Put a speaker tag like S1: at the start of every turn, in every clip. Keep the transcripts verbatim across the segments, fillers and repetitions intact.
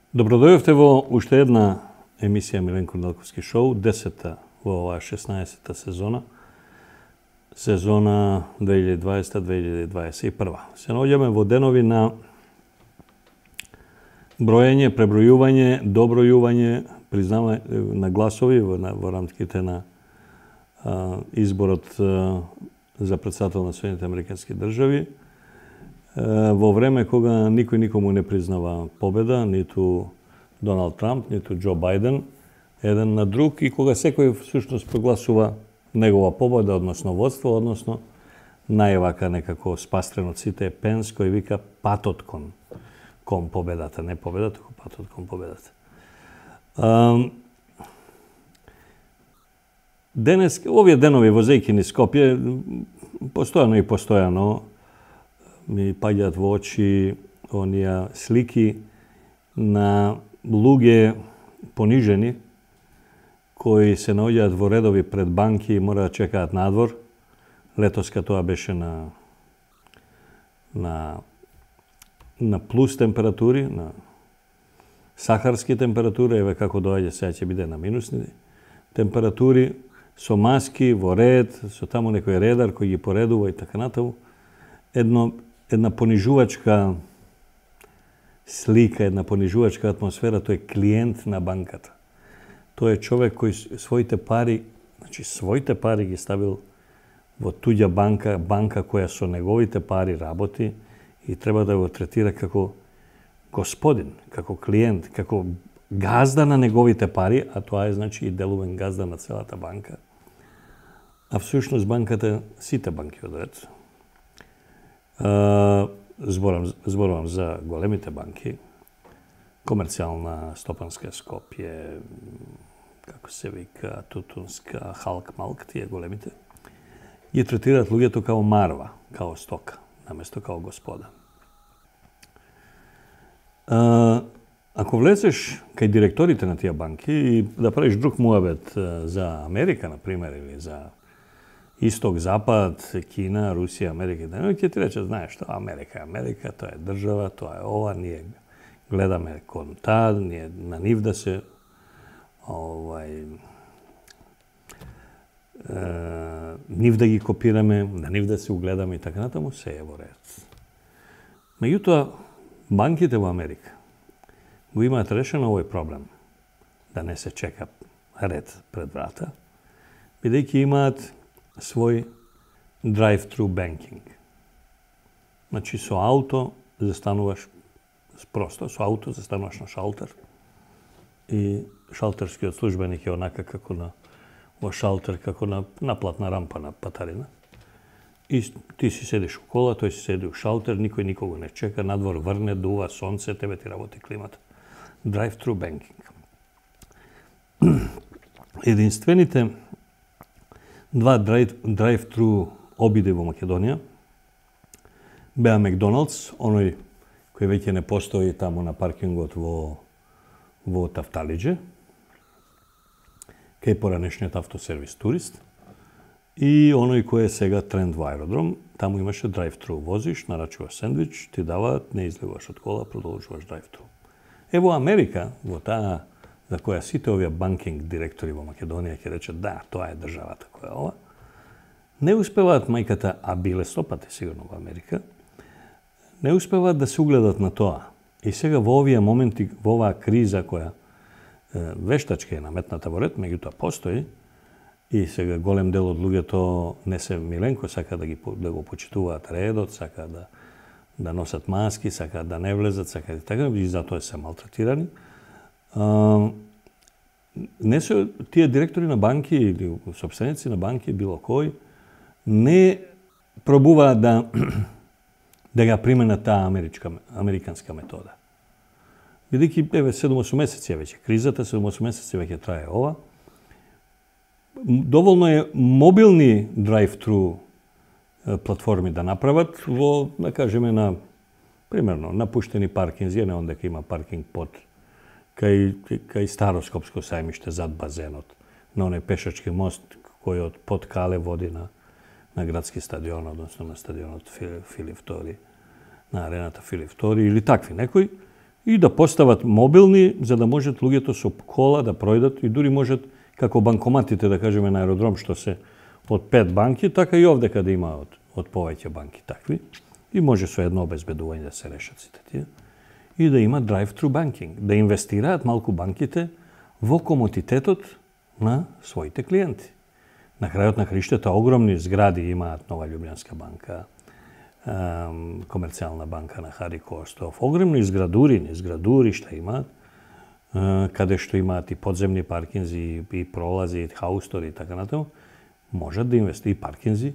S1: Добродојавте во уште една емисија Миленко Неделковски шоу, десета во оваа шеснаесета сезона, сезона две илјади и дваесета - две илјади дваесет и прва. Се наоѓаме во денови на броење, пребројување, добројување, признавање на гласови во, во рамките на а, изборот а, за претседател на Соединетите Американски држави, во време кога никој никому не признава победа, ниту Доналд Трамп, ниту Џо Бајден, еден на друг, и кога секој всушност прогласува негова победа, односно водство, односно највака некако спастрен од сите е Пенс, кој вика патот кон, кон победата, не победата, туку патот кон победата. Um, денес, овие денови возејќи низ Скопје, постојано и постојано ми паѓаат во очи онија слики на луѓе понижени кои се наоѓаат во редови пред банки и мора да чекаат надвор. Летоска тоа беше на на на плюс температури, на сахарски температури, еве како доаѓа сега ќе биде на минусни температури, со маски во ред, со таму некој редар кој ги поредува и така натаму. Едно една понижувачка слика, една понижувачка атмосфера, тој е клиент на банката. Тој е човек кој своите пари, значи своите пари ги ставил во туѓа банка, банка која со неговите пари работи и треба да го третира како господин, како клиент, како газда на неговите пари, а тоа е значи и делувен газда на целата банка. А всушност банката, сите банки од ред, Uh, зборам, зборувам за големите банки, Комерцијална, Стопанска, Скопје, како се вика, Тутунска, Халк, Малк, тие големите, ги третираат луѓето као марва, као стока, наместо као господа. Uh, ако влезеш кај директорите на тие банки и да правиш друг муабет за Америка, например, или за Исток, Запад, Кина, Русија, Америка, да, ќе ти рече, знаеш што, Америка е Америка, тоа е држава, тоа е ова, ние гледаме кон таа, ние на нив да се овај е, нив да ги копираме, на нив да се угледаме и така натаму, се е во ред. Меѓутоа, банките во Америка го имаат решено овој проблем, да не се чека ред пред врата, бидејќи имаат свој drive-thru banking. Значи, со ауто застануваш, просто со ауто застануваш на шалтер и шалтерскиот службеник е онака како на во шалтер, како на наплатна рампа на патарина. И ти си седиш у кола, тој си седи у шалтер, никој никого не чека, надвор врне, дува сонце, тебе ти работи климата. Drive-thru banking. Единствените два drive-thru обиди во Македонија беа Макдоналдс, оној кој веќе не постои таму на паркингот во во Тафталиџе, кај поранешниот автосервис Турист, и оној кој е сега тренд во аеродром. Таму имаше drive-thru, возиш, нарачуваш сендвич, ти даваат, не излегуваш од кола, продолжуваш drive-thru. Е во Америка, во таа за која сите овие банкинг директори во Македонија ќе речат да, тоа е државата која е ова, не успеваат мајката, а биле стопати сигурно во Америка, не успеваат да се угледат на тоа. И сега во овие моменти, во оваа криза која е, вештачки е наметната во ред, меѓутоа постои, и сега голем дел од луѓето не се Миленко, сака да, ги, да го почитуваат редот, сака да, да носат маски, сака да не влезат, сака и така, и затоа се малтретирани. Uh, не се тие директори на банки или собственици на банки, било кој, не пробуваат да да ја применат таа америчка, американска метода. Бидејќи, еве, седум-осум месеци веќе кризата, седум-осум месеци веќе трае ова, доволно е мобилни drive-thru платформи да направат во, да кажеме, на, примерно, напуштени паркинзи, не он дека има паркинг под кај, кај Староскопско сајмиште зад базенот, на оној пешачки мост кој од под Кале води на, на градски стадион, односно на стадионот Филип Втори, на арената Филип Втори или такви некои, и да постават мобилни за да можат луѓето со кола да пројдат и дури можат како банкоматите, да кажеме на аеродром, што се од пет банки, така и овде каде има од, од повеќе банки такви. И може со едно обезбедување да се решат сите тие. И да има drive-thru banking, да инвестираат малку банките во комотитетот на своите клиенти. На крајот на краиштата огромни згради имаат Нова Љубљанска банка, Комерцијална банка на Хари Костов, огромни зградури, зградуришта имаат, каде што имаат и подземни паркинзи, и пролази, и хаустори и така натаму, можат да инвестираат и паркинзи,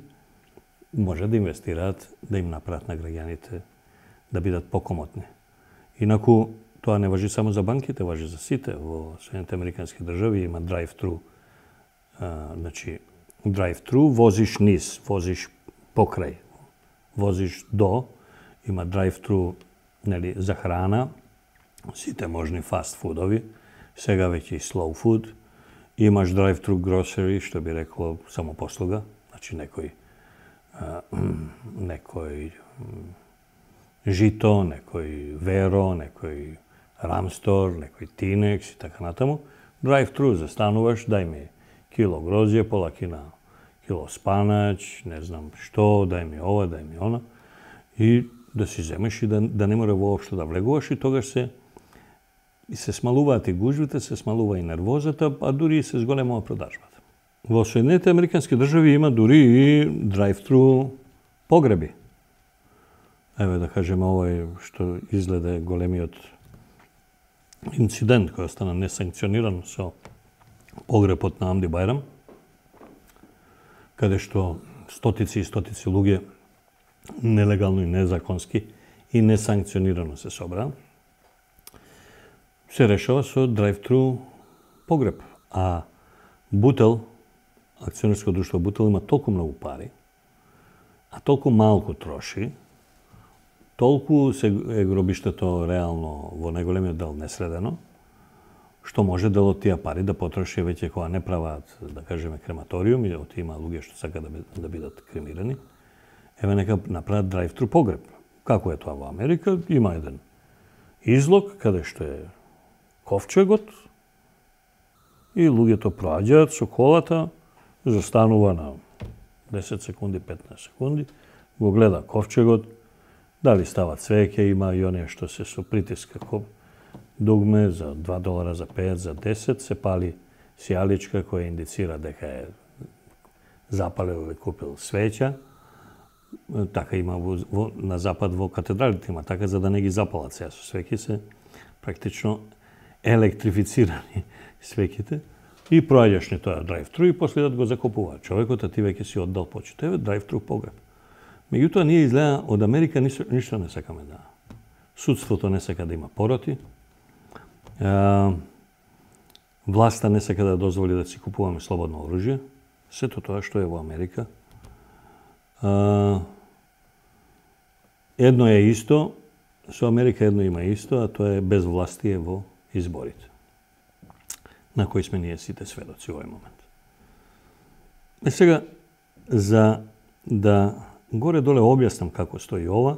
S1: можат да инвестираат да им направат на граѓаните да бидат покомотни. Инаку тоа не важи само за банките, важи за сите. Во Соединените Американски држави има drive-thru, значи drive-thru, возиш низ, возиш покрај, возиш до, има drive-thru, нели, за храна, сите можни фаст фудови, сега веќе и slow food, имаш drive-thru grocery, што би рекло само послуга, значи некој некој жито, некој веро, некој рамстор, некој тинекс и така натаму. Drive-thru застануваш, дај ми кило грозје, пола кина кило спанач, не знам што, дај ми ова, дај ми она. И да си земеш и да, да не мора воопшто да влегуваш и тогаш се и се смалуваат и гужвите, се смалува и нервозата, а дури и се зголемува продажбата. Во Соединените Американски држави има дури и drive-thru погреби. Еве да кажеме овој што изгледа големиот инцидент кој остана несанкциониран со погребот на Амди Бајрам, каде што стотици и стотици луѓе нелегално и незаконски и несанкционирано се собраа, се решава со drive-thru погреб. А Бутел, акционерско друштво Бутел има толку многу пари, а толку малку троши, толку се е гробиштето реално во најголемиот дел несредено, што може дел од тие пари да потроши веќе кога не прават, да кажеме, крематориум, и од има луѓе што сака да, да бидат кремирани, еве нека направат drive-thru погреб. Како е тоа во Америка? Има еден излог каде што е ковчегот и луѓето проаѓаат со колата, застанува на десет секунди, петнаесет секунди, го гледа ковчегот, дали става цвеќе, има и оние што се со притиск како дугме за два долара, за пет, за десет, се пали сијаличка која индицира дека е запалил или купил свеќа. Така има во, во, на запад во катедралите има така, за да не ги запалат сега со свеќи, се практично електрифицирани свеќите и проаѓаш ни тоа drive-thru и после да го закупува човекот, а ти веќе си оддал почит. Еве drive-thru погреб. Меѓутоа, ние изгледа од Америка ништо, ништо не сакаме да. Судството не сака да има пороти. А, власта не сака да дозволи да си купуваме слободно оружје. Сето тоа што е во Америка. А, едно е исто, со Америка едно има исто, а тоа е безвластие во изборите, на кои сме ние сите сведоци во овој момент. Е сега, за да горе-доле објаснам како стои ова,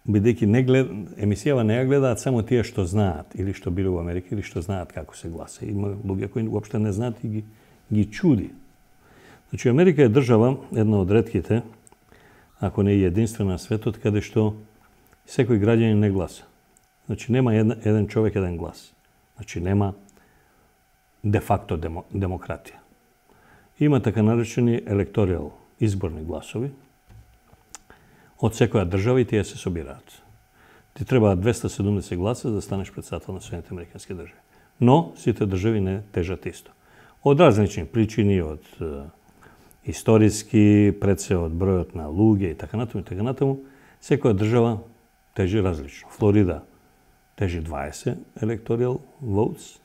S1: бидејќи не глед... емисијава не ја гледаат само тие што знаат, или што биле во Америка, или што знаат како се гласа. Има луѓе кои уопште не знаат и ги, ги чуди. Значи, Америка е држава, една од ретките, ако не и единствена на светот, каде што секој граѓанин не гласа. Значи, нема една, еден човек, еден глас. Значи, нема де-факто демо, демократија. Има така наречени електоријал, изборни гласови, од секоја држава и тие се собираат. Ти треба двеста седумдесет гласа за да станеш председател на Соединените Американски држави. Но сите држави не тежат исто. Од различни причини, од е, историски, пред се од бројот на луѓе и така натаму и така натаму, секоја држава тежи различно. Флорида тежи дваесет electoral votes,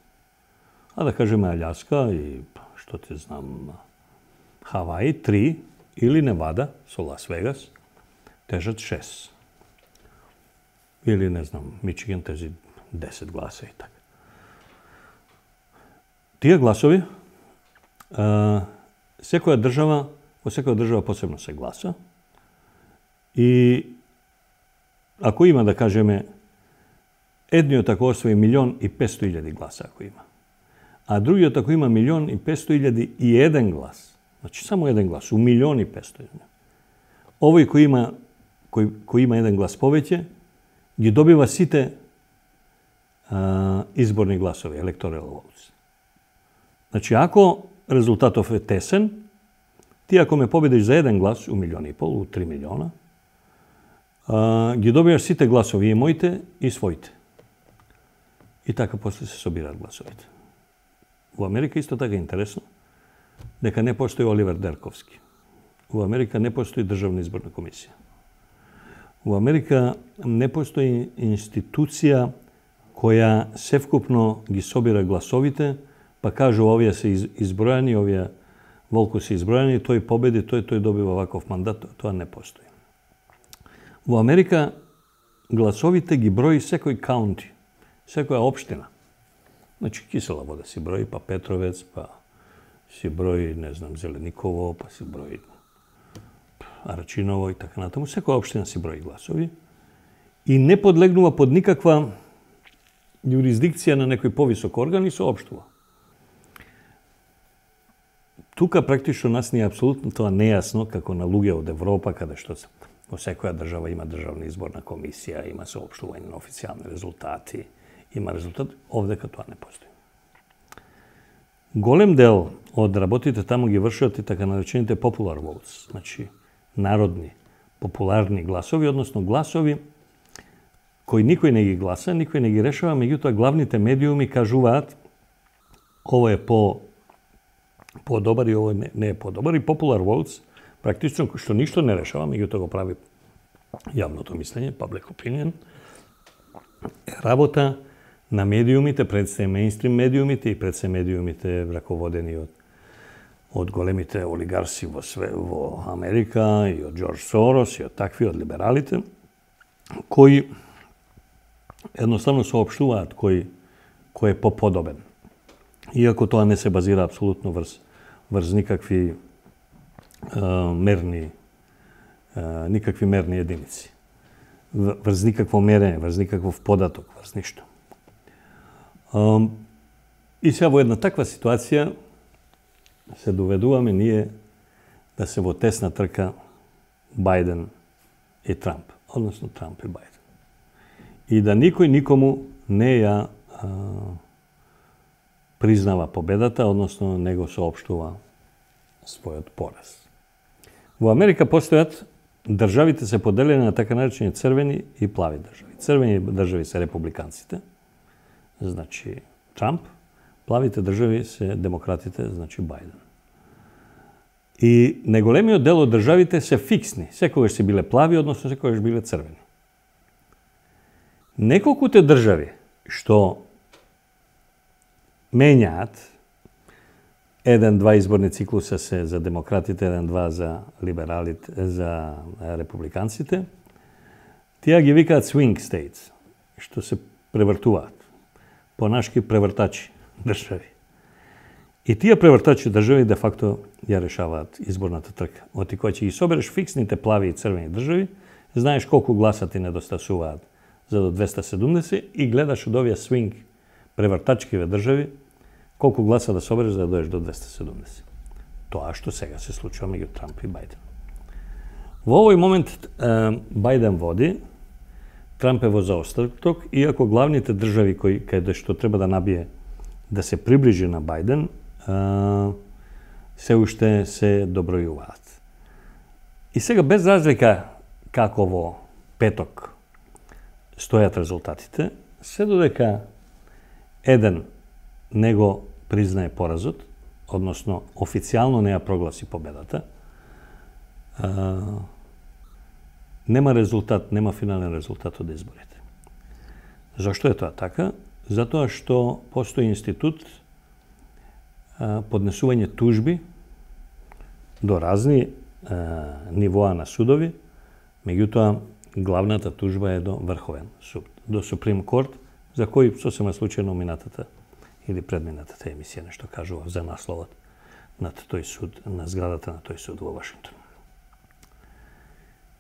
S1: а да кажеме Аљаска и што ти знам, Хаваи три или Невада со Лас Вегас тежат шест. Или, не знам, Мичиген тежи десет гласа и така. Тие гласови, а, секоја држава, во секоја држава посебно се гласа и ако има, да кажеме, едниот ако освои милион и петсто илјади гласа ако има, а другиот ако има милион и петсто илјади и еден глас, значи само еден глас, у милион и петсто илјади, овој кој има, кој, кој има еден глас повеќе, ги добива сите а, изборни гласови, electoral votes. Значи, ако резултатов е тесен, ти ако ме победиш за еден глас, у милион и пол, у три милиона, а, ги добиваш сите гласови, и моите, и своите. И така после се собираат гласовите. Во Америка исто така е интересно, дека не постои Оливер Дерковски. Во Америка не постои Државна изборна комисија. Во Америка не постои институција која севкупно ги собира гласовите, па кажу овие се избројани, овие волку се избројани, тој победи, тој тој добива ваков мандат, тоа не постои. Во Америка гласовите ги брои секој каунти, секоја општина. Значи Кисела Вода си брои, па Петровец, па си брои, не знам, Зелениково, па си брои Арачиново и така натаму. Секоја општина си брои гласови и не подлегнува под никаква јурисдикција на некој повисок орган и соопштува. Тука практично нас ни е апсолутно тоа нејасно, како на луѓе од Европа, каде што во секоја држава има државна изборна комисија, има соопштување на официјални резултати, има резултат, овдека тоа не постои. Голем дел од работите таму ги вршат и така наречените popular votes, значи народни, популарни гласови, односно гласови кои никој не ги гласа, никој не ги решава, меѓутоа главните медиуми кажуваат ово е по подобар и ово не, не е подобар, и popular votes практично што ништо не решава, меѓутоа го прави јавното мислење, public opinion, работа на медиумите, пред се мејнстрим медиумите и пред се медиумите раководени од од големите олигарси во све, во Америка и од Џорџ Сорос и од такви, од либералите, кои едноставно соопштуваат кој кој е поподобен. Иако тоа не се базира апсолутно врз врз никакви а, мерни а, никакви мерни единици. Врз никакво мерење, врз никаков податок, врз ништо. А, и сега во една таква ситуација се доведуваме ние да се во тесна трка Бајден и Трамп, односно Трамп и Бајден. И да никој никому не ја а, признава победата, односно не го соопштува својот пораз. Во Америка постојат државите се поделени на така наречени црвени и плави држави. Црвени држави се републиканците, значи Трамп, плавите држави се демократите, значи Бајден. И неголемиот дел од државите се фиксни, секогаш се биле плави, односно секогаш биле црвени. Неколкуте држави што менјаат, еден-два изборни циклуса се за демократите, еден-два за либералите, за републиканците, тие ги викаат swing states, што се превртуваат, понашки превртачи држави. И тие превртачи држави де факто ја решаваат изборната трка. Оти кој ќе ги собереш фиксните плави и црвени држави, знаеш колку гласа ти недостасуваат за до двеста седумдесет и гледаш од овие swing превртачкиве држави колку гласа да собереш за да доеш до двеста седумдесет. Тоа што сега се случува меѓу Трамп и Бајден. Во овој момент Бајден води, Трамп е во заостаток, иако главните држави кои каде што треба да набие да се приближи на Бајден, се уште се добројуваат. И сега без разлика како во петок стојат резултатите, се додека еден не го признае поразот, односно официјално не ја прогласи победата, а, нема резултат, нема финален резултат од изборите. Зошто е тоа така? Затоа што постои институт а, поднесување тужби до разни а, нивоа на судови, меѓутоа главната тужба е до Врховен суд, до Суприм Корт, за кој сосема случајно минатата или предмината емисија нешто кажува за насловот над тој суд, на зградата на тој суд во Вашингтон.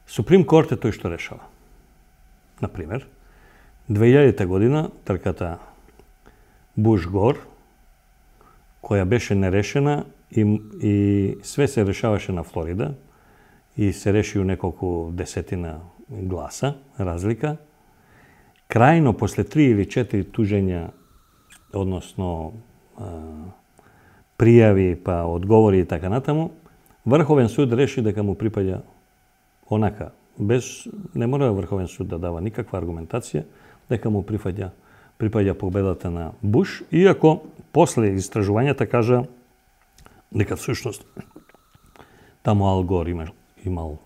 S1: Суприм Корт е тој што решава. Например, две илјадета година трката Буш-Гор, која беше нерешена и, и све се решаваше на Флорида и се реши у неколку десетина гласа разлика, крајно после три или четири тужења, односно а, пријави па одговори и така натаму, Врховен суд реши дека му припаѓа онака, без не мора Врховен суд да дава никаква аргументација, дека му припаѓа припаѓа победата на Буш, иако после истражувањата кажа дека всушност таму Ал Гор имал, имал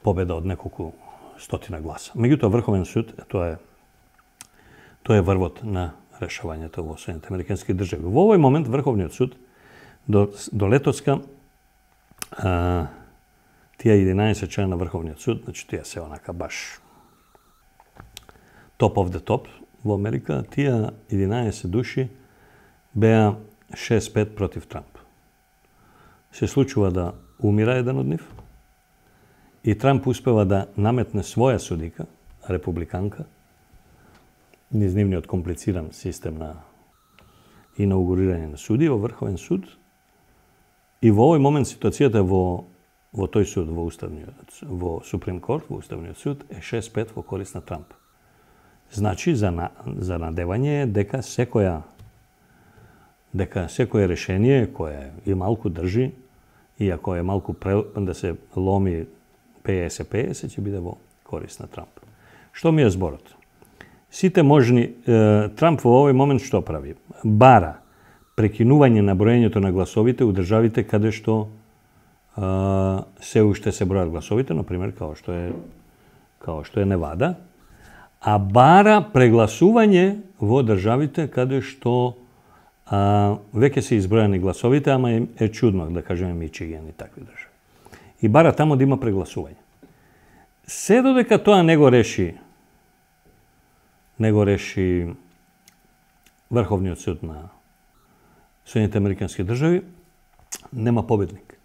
S1: победа од неколку стотина гласа. Меѓутоа Врховен суд, тоа е тоа е врвот на решавањето во Соединетите Американски држави. Во овој момент Врховниот суд до, до летоска а, тие единаесет члена на Врховниот суд, значи тие се онака баш топ of the top во Америка, тие единаесет души беа шест пет против Трамп. Се случува да умира еден од нив и Трамп успева да наметне своја судика, републиканка, низ нивниот комплициран систем на инаугурирање на суди во Врховен суд. И во овој момент ситуацијата во во тој суд, во уставниот, во Суприм Корт, во уставниот суд е шест пет во корист на Трамп. Значи за на, за надевање е дека секоја дека секое решение кое и малку држи, иако е малку пре, да се ломи петдесет петдесет, ќе биде во корист на Трамп. Што ми е зборот? Сите можни, е, Трамп во овој момент што прави? Бара прекинување на броењето на гласовите у државите каде што е, се уште се бројат гласовите, например, као што е као што е Невада, а бара прегласување во државите каде што а, веќе се избројани гласовите, ама е, е чудно, да кажеме Мичиген и такви држави. И бара тамо да има прегласување. Се додека тоа не го реши не го реши Врховниот суд на Соединетите Американски држави, нема победник.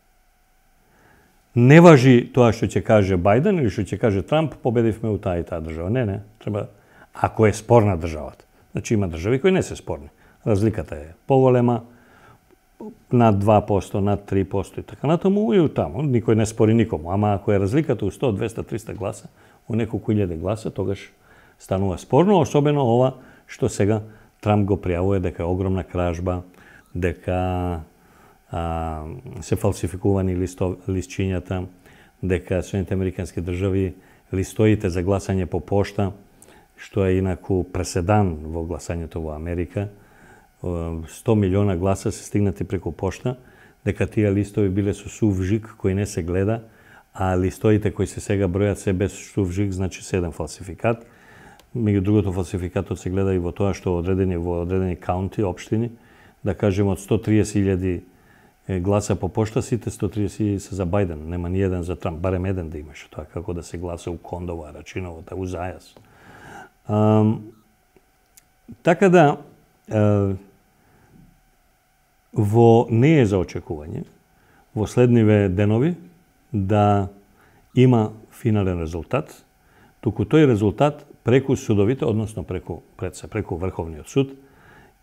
S1: Не важи тоа што ќе каже Бајден или што ќе каже Трамп, победивме у таа и таа држава. Не, не, треба, ако е спорна државата. Значи има држави кои не се спорни. Разликата е поголема, над два проценти, над три проценти и така натаму, и таму. Никој не спори никому. Ама ако е разликата у сто, двеста, триста гласа, у неколку илјади гласа, тогаш станува спорно, особено ова што сега Трамп го пријавува дека е огромна кражба, дека а, се фалсификувани листо, листчињата, дека Соединетите Американски држави листоите за гласање по пошта, што е инаку преседан во гласањето во Америка, сто милиона гласа се стигнати преку пошта, дека тие листови биле со сув жик кој не се гледа, а листоите кои се сега бројат се без сув жик, значи се еден фалсификат. Меѓу другото, фалсификатот се гледа и во тоа што одредени во одредени каунти, општини, да кажеме од сто триесет илјади гласа по пошта, сите сто триесет илјади се за Бајден, нема ни еден за Трамп, барем еден да имаше тоа, како да се гласа у Кондова, Рачиновата, у Зајас. Um, така да, uh, во не е за очекување, во следниве денови, да има финален резултат, туку тој резултат преку судовите, односно преку, пред се, преку Врховниот суд,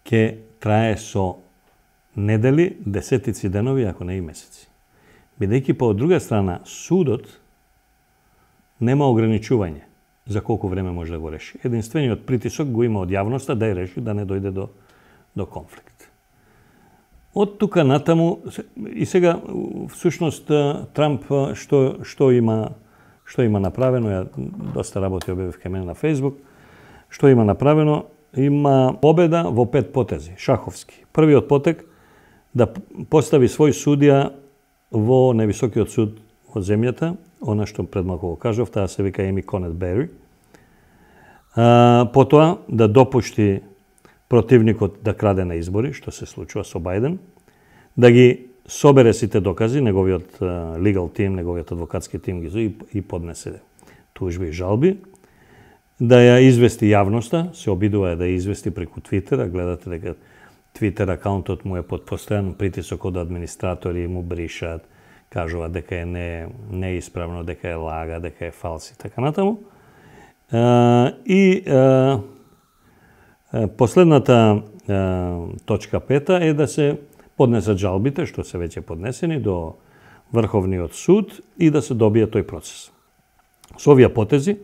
S1: ќе трае со недели, десетици денови, ако не и месеци. Бидејќи по друга страна, судот нема ограничување за колку време може да го реши. Единствениот притисок го има од јавноста да ја реши, да не дојде до, до конфликт. Од тука натаму, и сега, всушност, Трамп што, што има што има направено, ја доста работи објавив кај мене на Фејсбук, што има направено, има победа во пет потези, шаховски. Првиот потек да постави свој судија во највисокиот суд од земјата, она што пред малку го кажав, таа се вика Еми Конет Бери. А, потоа да допушти противникот да краде на избори, што се случува со Бајден, да ги собере сите докази, неговиот legal тим, неговиот адвокатски тим ги и поднесе тужби и жалби, да ја извести јавноста, се обидува да ја извести преку Твитер, а гледате дека Twitter акаунтот му е под постојан притисок од администратори, му бришат, кажуваат дека е не, неисправно, дека е лага, дека е фалс и така натаму. Uh, и uh, последната uh, точка пета е да се поднесат жалбите, што се веќе поднесени до Врховниот суд и да се добие тој процес. Со овие потези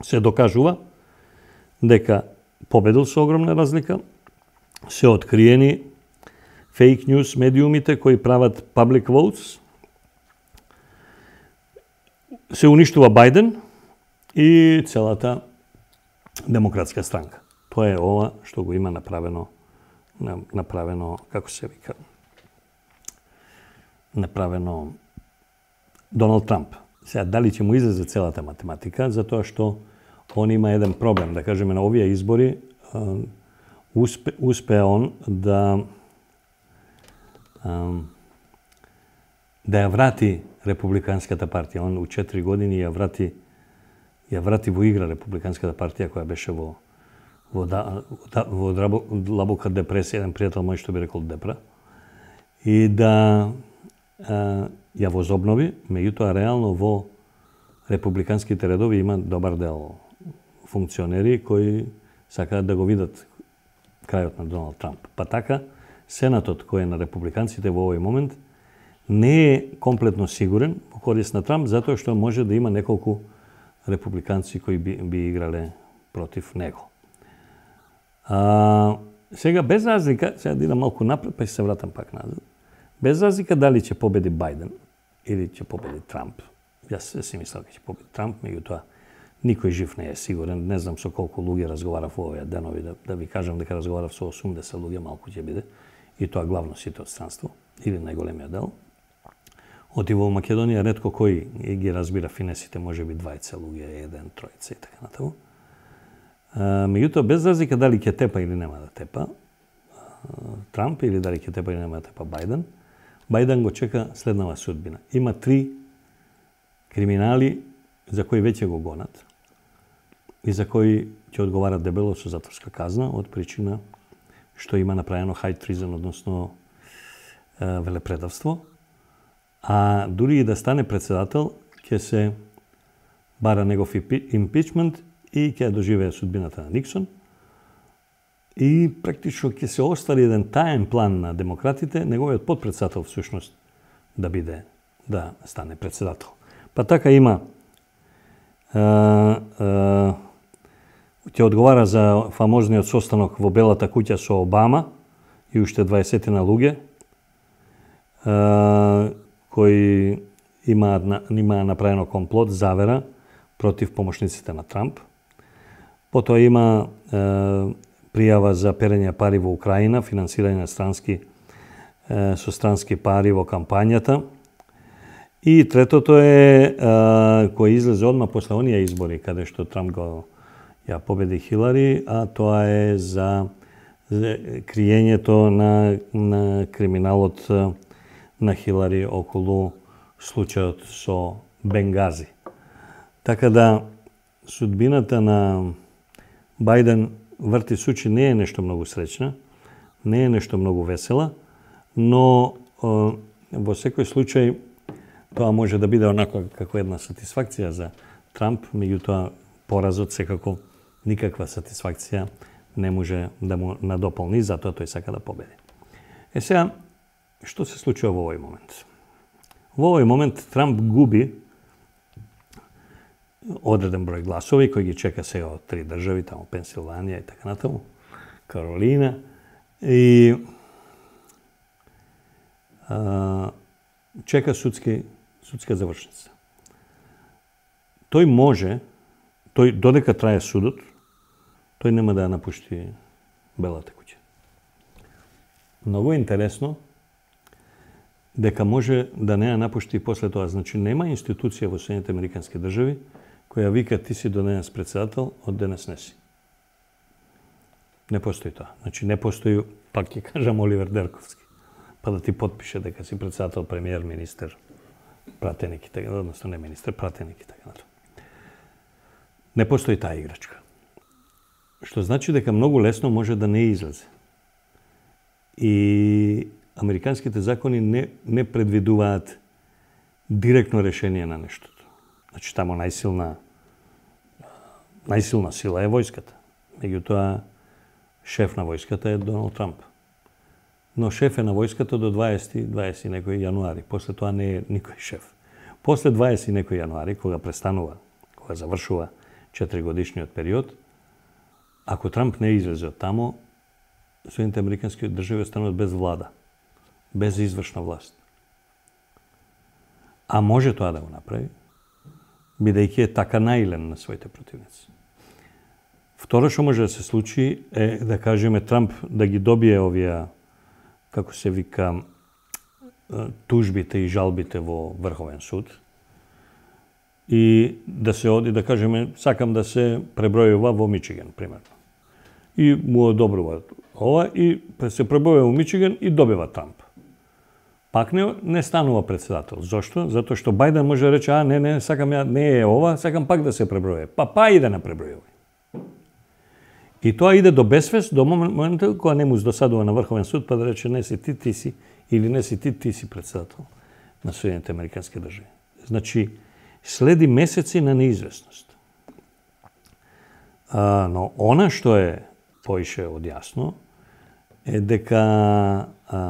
S1: се докажува дека победил со огромна разлика, се откриени фейк ньюс медиумите кои прават public votes, се уништува Бајден и целата демократска странка. Тоа е ова што го има направено, направено, како се вика, направено Доналд Трамп. Сега, дали ќе му излезе целата математика, затоа што он има еден проблем. Да кажеме, на овие избори успе, успе он да да ја врати Републиканската партија. Он у четири години ја врати ја врати во игра Републиканската партија која беше во во, да, во, во длабока депресија, еден пријател мој што би рекол депра, и да а, ја возобнови, меѓутоа реално во републиканските редови има добар дел функционери кои сакаат да го видат крајот на Доналд Трамп. Па така, Сенатот кој е на републиканците во овој момент не е комплетно сигурен во корист на Трамп, затоа што може да има неколку републиканци кои би, би играле против него. А, сега, без разлика, сега да идам малку напред, па ќе се вратам пак назад, без разлика дали ќе победи Бајден или ќе победи Трамп. Јас си мислам дека ќе победи Трамп, меѓутоа никој жив не е сигурен. Не знам со колку луѓе разговарав во овие денови, да, да ви кажам дека разговарав со осумдесет луѓе, малку ќе биде, и тоа главно сите од странство, или најголемиот дел. Оти во Македонија ретко кој ги разбира финесите, може би двајца луѓе, еден, тројца и така натаму. Меѓутоа, без разлика дали ќе тепа или нема да тепа Трамп, или дали ќе тепа или нема да тепа Бајден, Бајден го чека следнава судбина. Има три криминали за кои веќе го гонат и за кои ќе одговарат дебело со затворска казна од причина што има направено high treason, односно е, велепредавство. А дури и да стане председател, ќе се бара негов импичмент и ќе доживее судбината на Никсон. И практично ќе се остави еден таен план на демократите, неговиот подпредседател всушност да биде, да стане председател. Па така има а, а, ќе одговара за фамозниот состанок во Белата куќа со Обама и уште дваесет на луѓе а, кои имаат има направено комплот, завера против помошниците на Трамп. Потоа има е, пријава за перење пари во Украина, финансирање на странски е, со странски пари во кампањата. И третото е, е кој излезе одма после оние избори каде што Трамп го ја победи Хилари, а тоа е за, за криењето на на криминалот на Хилари околу случајот со Бенгази. Така да судбината на Бајден врти сучи не е нешто многу среќна, не е нешто многу весела, но е, во секој случај тоа може да биде онако како една сатисфакција за Трамп, меѓутоа поразот секако никаква сатисфакција не може да му надополни, затоа тој сака да победи. Е сега, што се случува во овој момент? Во овој момент Трамп губи одреден број гласови кои ги чека сега од три држави, таму Пенсилванија и така натаму, Каролина, и а, чека судски, судска завршница. Тој може, тој додека трае судот, тој нема да ја напушти Белата куќа. Многу интересно дека може да не ја напушти и после тоа. Значи, нема институција во Соединетите Американски држави која вика ти си до денес председател, од денес не си. Не постои тоа. Значи, не постои, пак ќе кажам, Оливер Дерковски, па да ти подпише дека си председател, премиер, министер, пратеник и така, односно не министер, пратеник и така натаму. Не постои таа играчка. Што значи дека многу лесно може да не излезе. И американските закони не, не предвидуваат директно решение на нештото. Значи, тамо најсилна, најсилна сила е војската. Меѓутоа, шеф на војската е Доналд Трамп. Но шеф е на војската до дваесети, дваесети некој јануари. После тоа не е никој шеф. После дваесети некој јануари, кога престанува, кога завршува четиригодишниот период, ако Трамп не излезе од тамо, Соединените американски држави остануваат без влада, без извршна власт. А може тоа да го направи, бидејќи е така наилен на своите противници. Второ што може да се случи е, да кажеме, Трамп да ги добие овие, како се вика, тужбите и жалбите во Врховен суд и да се оди, да кажеме, сакам да се пребројува во Мичиген, примерно. И му одобрува ова и се пребројува во Мичиген и добива Трамп. Пак не, не станува председател. Зошто? Затоа што Бајден може да рече, а не, не, сакам ја, не е ова, сакам пак да се пребројува. Па, па и да не пребројува. И тоа иде до безвест, до моментот кога не му досадува на Врховен суд, па да рече не си ти, ти си, или не си ти, ти си председател на Соединените американски држави. Значи, следи месеци на неизвестност. А, но она што е поише од јасно е дека а,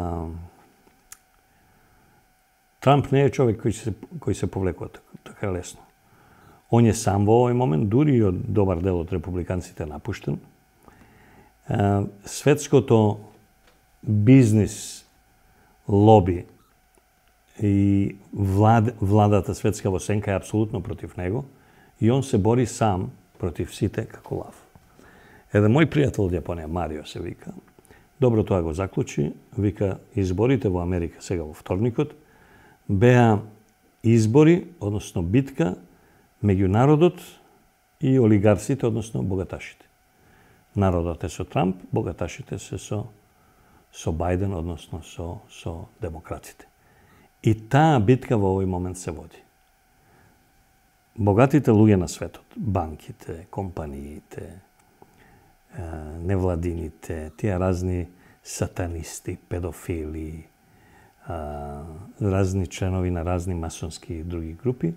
S1: Трамп не е човек кој се, кој се повлекува така, така лесно. Он е сам во овој момент, дури и од добар дел од републиканците напуштен. А, светското бизнис лоби и влад, владата светска во сенка е апсолутно против него и он се бори сам против сите како лав. Еден мој пријател од Јапонија, Марио се вика, добро тоа го заклучи, вика, изборите во Америка сега во вторникот беа избори, односно битка меѓу народот и олигарсите, односно богаташите. Народот е со Трамп, богаташите се со со Бајден, односно со со демократите. И таа битка во овој момент се води. Богатите луѓе на светот, банките, компаниите, невладините, тие разни сатанисти, педофили, разни членови на разни масонски и други групи,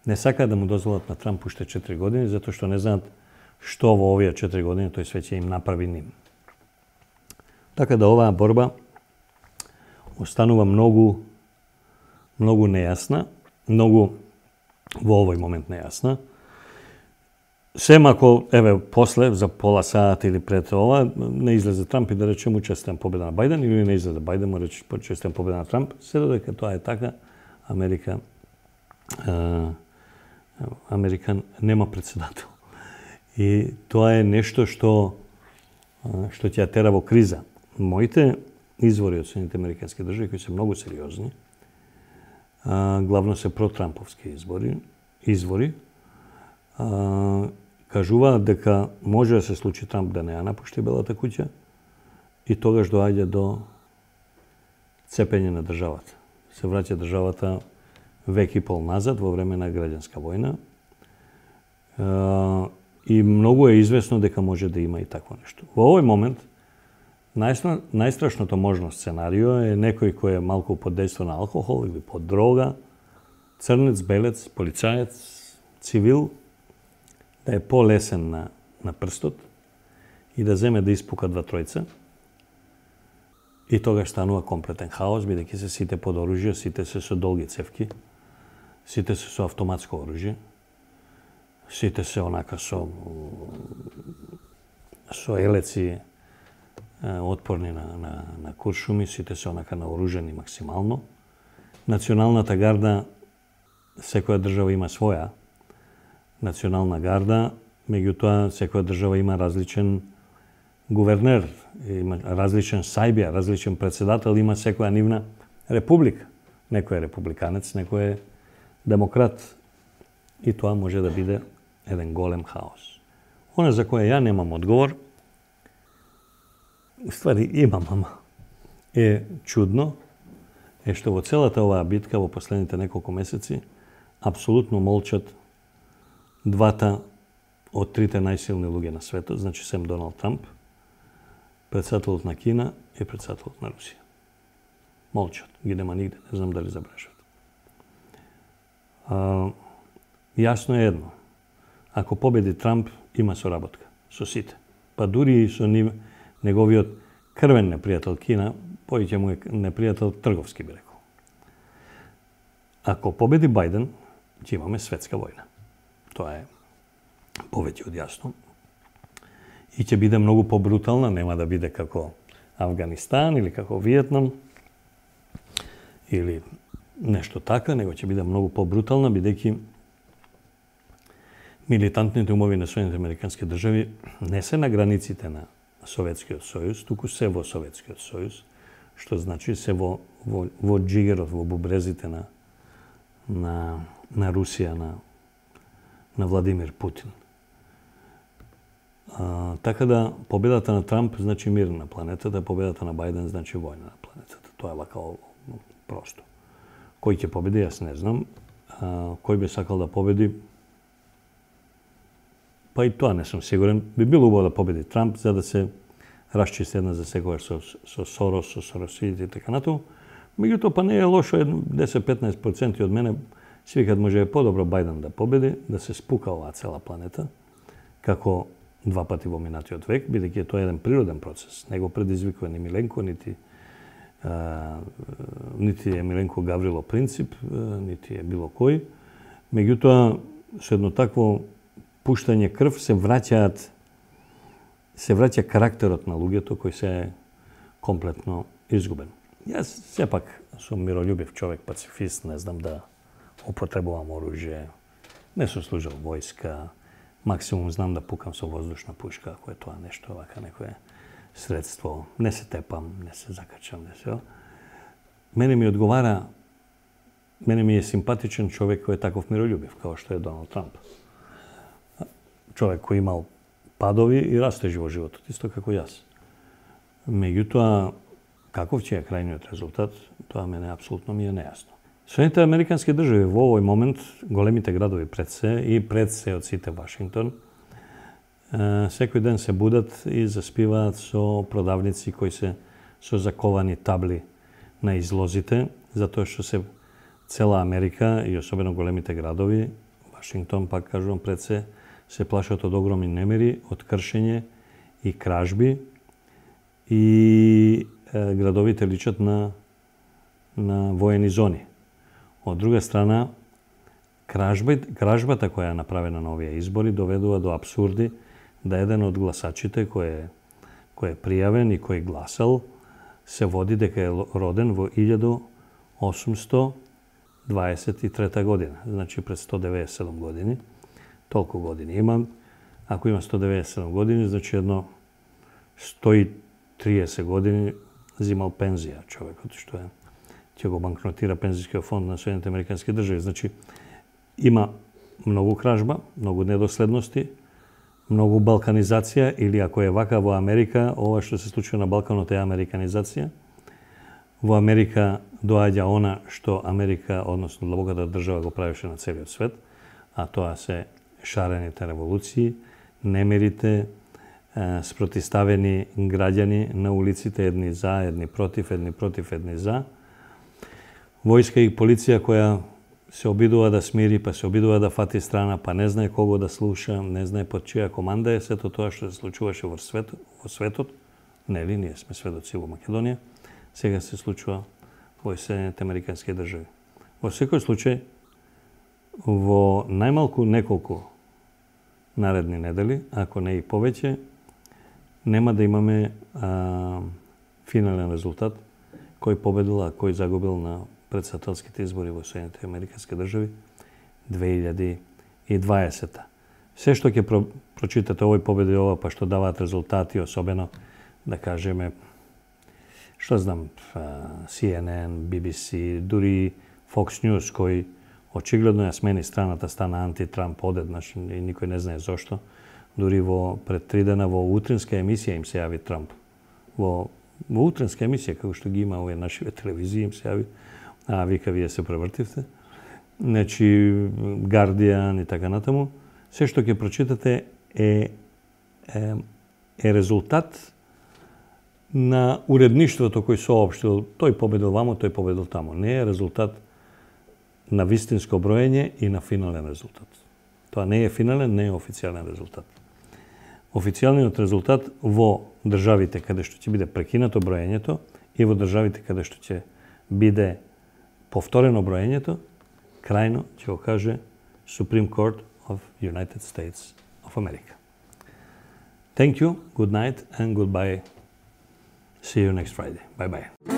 S1: не сакаат да му дозволат на Трамп уште четири години, затоа што не знаат што во овие четири години тој све ќе им направи ним. Така да оваа борба останува многу многу нејасна, многу во овој момент нејасна. Сем ако, еве, после, за пола саат или пред ова, не излезе Трамп и да рече му честитам победа на Бајден, или не излезе Бајден му рече честитам победа на Трамп, се додека тоа е така, Америка, е, Америка нема председател. И тоа е нешто што што ќе ја тера во криза. Моите извори од Соединените американски држави, кои се многу сериозни, главно се протрамповски избори, извори, кажуваат дека може да се случи Трамп да не ја напушти Белата куќа и тогаш доаѓа до цепење на државата. Се враќа државата век и пол назад во време на граѓанска војна. И многу е известно дека може да има и такво нешто. Во овој момент најстрашното можно сценарио е некој кој е малку под дејство на алкохол или под дрога, црнец, белец, полицаец, цивил, да е полесен на, на прстот и да земе да испука два тројца. И тогаш станува комплетен хаос, бидејќи се сите под оружје, сите се со долги цевки, сите се со автоматско оружје, сите се онака со со елеци отпорни на, на, на куршуми, сите се онака наоружени максимално. Националната гарда, секоја држава има своја национална гарда, меѓутоа секоја држава има различен гувернер, има различен сајбија, различен председател, има секоја нивна република. Некој е републиканец, некој е демократ. И тоа може да биде еден голем хаос. Она за која ја немам одговор, ствари имам, ама е чудно, е што во целата оваа битка во последните неколку месеци апсолутно молчат двата од трите најсилни луѓе на светот, значи сем Доналд Трамп, председателот на Кина и председателот на Русија. Молчат, ги нема нигде, не знам дали забележат. А, јасно е едно. Ако победи Трамп, има соработка со сите. Па дури и со нив, неговиот крвен непријател Кина, повеќе му е непријател трговски, би рекол. Ако победи Бајден, ќе имаме светска војна. Тоа е повеќе од јасно. И ќе биде многу побрутална, нема да биде како Авганистан или како Виетнам или нешто така, него ќе биде многу побрутална, бидејќи милитантните умови на Соединените американски држави не се на границите на Советскиот сојуз, туку се во Советскиот сојуз, што значи се во, во, во джигерот, во бубрезите на, на, на Русија, на, на Владимир Путин. А, така да, победата на Трамп значи мир на планетата, победата на Бајден значи војна на планетата. Тоа е вака просто. Кој ќе победи, јас не знам. А, кој би сакал да победи? Па и тоа не сум сигурен. Би било убаво да победи Трамп, за да се расчисти една за секогаш со, со Сорос, со Соросидите и така натаму. Меѓутоа, па не е лошо, десет до петнаесет проценти од мене си викат може е подобро Бајден да победи, да се спука оваа цела планета, како два пати во минатиот век, бидејќи тоа е еден природен процес. Не го предизвикува ни Миленко, нити а, нити е Миленко Гаврило Принцип, нити е било кој. Меѓутоа, со едно такво пуштање крв се враќаат се враќа карактерот на луѓето кој се е комплетно изгубен. Јас сепак сум миролюбив човек, пацифист, не знам да употребувам оружје, не сум служил војска, максимум знам да пукам со воздушна пушка, ако е тоа нешто вака некое средство. Не се тепам, не се закачам, не се. Мене ми одговара, мене ми е симпатичен човек кој е таков миролюбив, како што е Доналд Трамп. Човек кој имал падови и растежи во животот, исто како јас. Меѓутоа, каков ќе е крајниот резултат, тоа мене апсолутно ми е нејасно. Соединетите американски држави во овој момент, големите градови пред се и пред се од сите Вашингтон, секој ден се будат и заспиваат со продавници кои се со заковани табли на излозите, затоа што се цела Америка и особено големите градови, Вашингтон, пак кажувам, пред се, се плашат од огромни немири, од кршење и кражби и е, градовите личат на, на воени зони. Од друга страна, кражба, кражбата која е направена на овие избори доведува до абсурди да еден од гласачите кој е, кој е пријавен и кој гласал се води дека е роден во илјада осумсто дваесет и трета година, значи пред сто деветдесет и седум години. Толку години има. Ако има сто деветдесет и седум години, значи едно сто и триесет години зимал пензија човекот, што е ќе го банкротира пензијскиот фонд на Соединените американски држави. Значи, има многу кражба, многу недоследности, многу балканизација, или ако е вака во Америка, ова што се случува на Балканот е американизација. Во Америка доаѓа она што Америка, односно длабоката држава, го правеше на целиот свет, а тоа се шарените револуции, немирите, спротиставени граѓани на улиците, едни за, едни против, едни против, едни за. Војска и полиција која се обидува да смири, па се обидува да фати страна, па не знае кого да слуша, не знае под чија команда е, сето тоа што се случуваше во светот, во светот, нели, ние сме сведоци во Македонија, сега се случува во Соединените американски држави. Во секој случај, во најмалку неколку наредни недели, ако не и повеќе, нема да имаме а, финален резултат кој победил, а кој загубил на председателските избори во Соединените американски држави две илјади и дваесета. Се што ќе про, прочитате овој победи ова, па што даваат резултати, особено, да кажеме, што знам, Си Ен Ен, Би Би Си, дури Fox News, кој очигледно ја смени страната, стана анти-Трамп одеднаш и никој не знае зошто. Дури во пред три дена во утринска емисија им се јави Трамп. Во, во утринска емисија, како што ги има овие нашиве телевизии, им се јави, а вика, вие се превртивте. Значи, Guardian и така натаму. Се што ќе прочитате е, е, е резултат на уредништвото кој соопштил тој победил вамо, тој победил тамо. Не е резултат на вистинско броење и на финален резултат. Тоа не е финален, не е официјален резултат. Официјалниот резултат во државите каде што ќе биде прекинато броењето и во државите каде што ќе биде повторено броењето, крајно ќе го каже Supreme Court of United States of America. Thank you, good night and goodbye. See you next Friday. Bye-bye.